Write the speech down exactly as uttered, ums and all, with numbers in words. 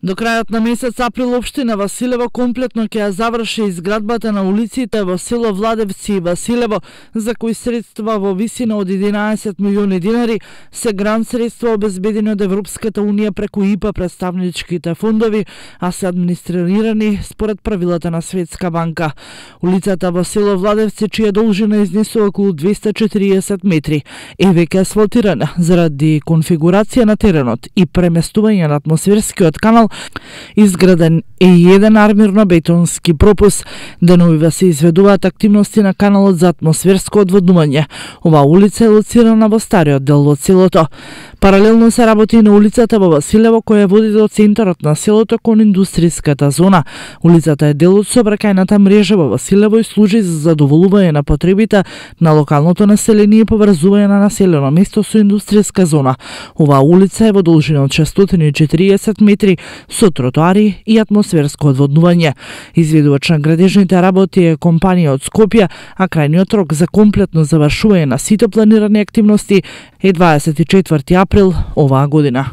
До крајот на месец април општина Василево комплетно ќе ја заврши изградбата на улиците во село Владевци и Василево, за кои средства во висина од единаесет милиони динари се грант средства обезбедени од Европската унија преку И П А представничките фондови, а се администрирани според правилата на Светска банка. Улицата во село Владевци, чија должина изнесува околу двесте и четириесет метри, е веќе асфалтирана заради конфигурација на теренот и преместување на атмосферскиот канал. Изграден е и еден армирно-бетонски пропус. Деновиве се изведуваат активности на каналот за атмосферско одводнување. Оваа улица е лоцирана во стариот дел од селото. Паралелно се работи и на улицата во Василево, која води до центарот на селото кон индустријската зона. Улицата е дел од сообраќајната мрежа во Василево и служи за задоволување на потребите на локалното население и поврзување на населено место со индустријска зона. Оваа улица е во должина од шестстотини и четириесет метри со тротоари и атмосферско одводнување. Изведувач на градежните работи е компанија од Скопје, а крајниот рок за комплетно завршување на сите планирани активности е дваесет и четврти април оваа година.